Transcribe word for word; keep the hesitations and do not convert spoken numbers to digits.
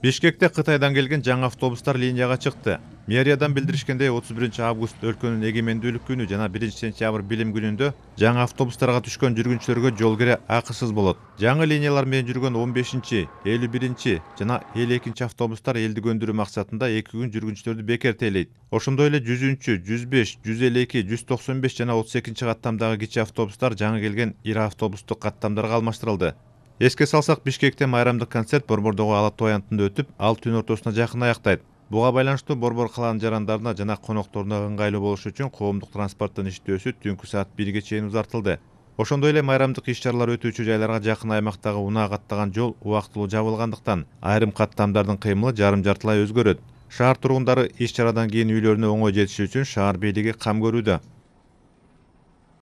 Бишкекте Кытайдан келген жаңы автобустар линияга чыкты. Мэриядан билдиришкендей, отуз биринчи август өлкөнүн эгемендүүлүк күнү жана биринчи сентябрь билим күнүндө жаңы автобустарга түшкөн жүргүнчүлөргө жол кире акысыз болот. Жаңы линиялар менен жүргөн он бешинчи, элүү биринчи жана элүү экинчи автобустар элди көндүрүү максатында эки күн жүргүнчүлөрдү бекер тейлейт. Ошондой эле жүзүнчү, жүз беш, жүз элүү эки, жүз токсон беш жана отуз экинчи каттамдагы кичи автобустар жаңы келген ири автобустук каттамдарга алмаштырылды. Эске салсак, Бишкекте майрамдык концерт Борбордогу Ала Тоо аянтында өтүп, ал түн ортосуна жакын аяктайт. Буга байланыштуу Борбор калаанын жарандарына жана конокторуна ыңгайлуу болуш үчүн коомдук транспорттун иштөөсү түнкү саат бирге чейин узартылды. Ошондой эле майрамдык иш-чаралар өтүүчү жайларга жакын аймактагы унаа каттаган жол убактылуу жабылгандыктан айрым каттамдардын кыймылы жарым-жартылай өзгөрөт. Шаар тургундары иш-чарадан кийин үйлөрүнө оңой жетиши үчүн шаар бийлиги кам көрүүдө.